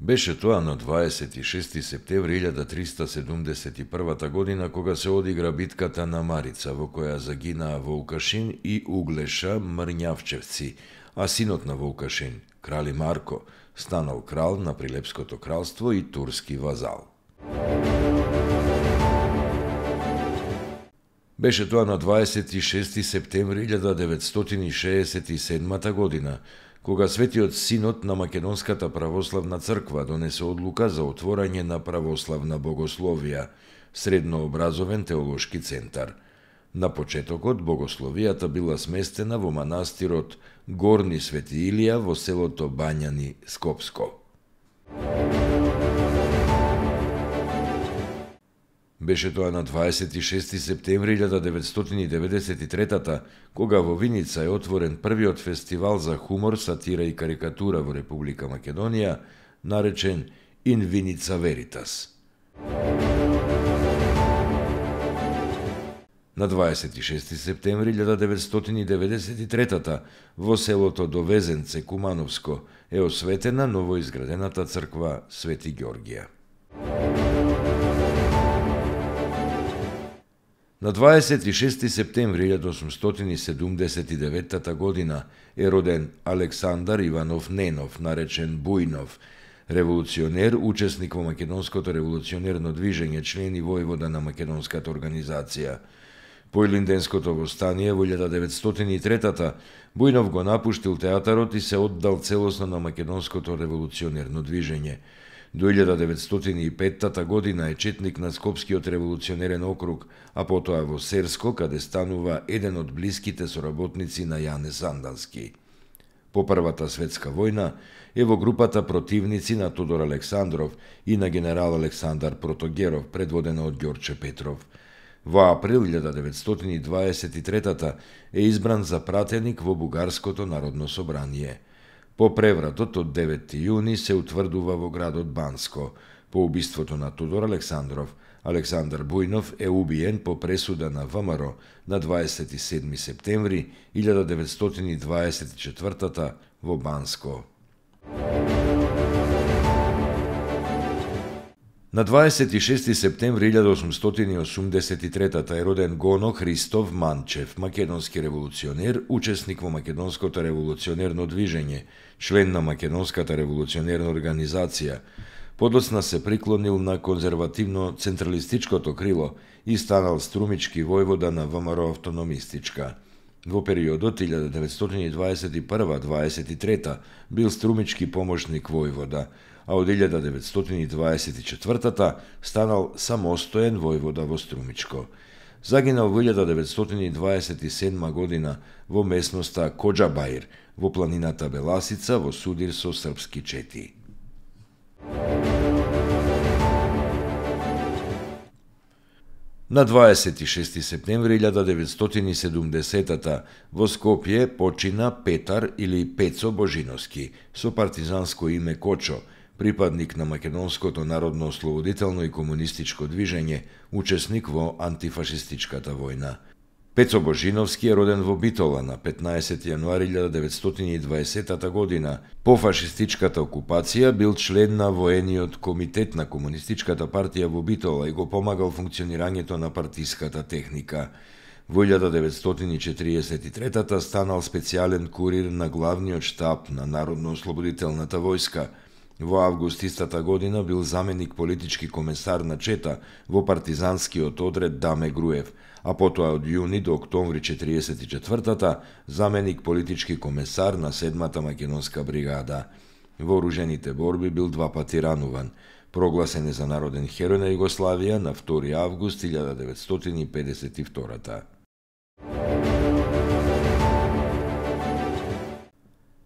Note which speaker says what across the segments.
Speaker 1: Беше тоа на 26 септември 1371 година кога се одигра битката на Марица, во која загинаа Вулкашин и Углеша Мрњавчевци, а синот на Вулкашин, крали Марко, станал крал на Прилепското кралство и турски вазал. Беше тоа на 26 септември 1967 година, кога Светиот Синод на Македонската православна црква донесе одлука за отворање на православна богословија, среднообразовен теолошки центар. На почетокот богословијата била сместена во манастирот Горни Свети Илија во селото Бањани, Скопско. Беше тоа на 26 септември 1993 кога во Виница е отворен првиот фестивал за хумор, сатира и карикатура во Република Македонија, наречен In Vinica Veritas. На 26 септември 1993 во селото Довезенце, Кумановско, е осветена новоизградената црква Свети Ѓоргија. На 26 септември 1879 година е роден Александар Иванов Ненов, наречен Бујнов, револуционер, учесник во Македонското револуционерно движење, член и војвода на Македонската организација. По Илинденското востание во 1903 Бујнов го напуштил театарот и се оддал целосно на Македонското револуционерно движење. До 1905 година е четник на Скопскиот револуционерен округ, а потоа во Серско, каде станува еден од блиските соработници на Јане Сандански. По Првата светска војна е во групата противници на Тодор Александров и на генерал Александар Протогеров, предводена од Ѓорче Петров. Во април 1923 е избран за пратеник во Бугарското народно собрание. По превратот од 9 јуни се утврдува во градот Банско. По убиството на Тодор Александров, Александар Бујнов е убиен по пресуда на ВМРО на 27 септември 1924 во Банско. На 26 септември 1883 е роден Гоно Христов Манчев, македонски револуционер, учесник во Македонското револуционерно движење, член на Македонската револуционерна организација. Подоцна се приклонил на конзервативно-централистичкото крило и станал струмички војвода на ВМРО автономистичка. Во периодот 1921-23 бил струмички помошник војвода, а од 1924 станал самостоен војвода во Струмичко. Загинал во 1927 година во местноста Коџабаир, во планината Беласица, во судир со српски чети. На 26 септември 1970 во Скопје почина Петар или Пецо Божиновски, со партизанско име Кочо, припадник на Македонското народно-ослободително и комунистичко движење, учесник во антифашистичката војна. Пецо Божиновски е роден во Битола на 15 јануари 1920 година. По фашистичката окупација бил член на воениот комитет на Комунистичката партија во Битола и го помагал функционирањето на партиската техника. Во 1943 станал специјален курир на главниот штаб на Народно-ослободителната војска. Во август истата година бил заменик политички комесар на Чета во партизанскиот одред Даме Груев, а потоа од јуни до октомври 1944 заменик политички комесар на 7-та македонска бригада. Во оружените борби бил 2 пати рануван. Прогласен е за народен херој на Југославија на 2 август 1952.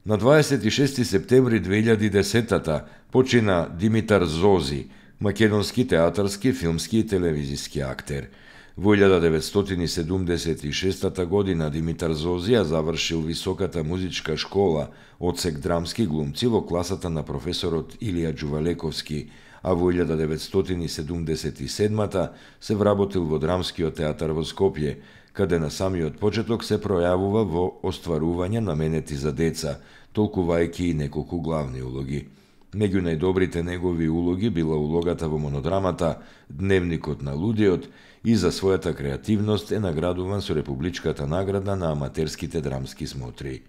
Speaker 1: На 26 септември 2010 почина Димитар Зози, македонски театарски, филмски и телевизиски актер. Во 1976 година Димитар Зозија завршил високата музичка школа, одсек драмски глумци во класата на професорот Илија Џувалековски, а во 1977 се вработил во Драмскиот театар во Скопје, каде на самиот почеток се пројавува во остварување наменети за деца, толкувајќи и неколку главни улоги. Меѓу најдобрите негови улоги била улогата во монодрамата Дневникот на лудиот и за својата креативност е наградуван со Републичката награда на аматерските драмски смотри.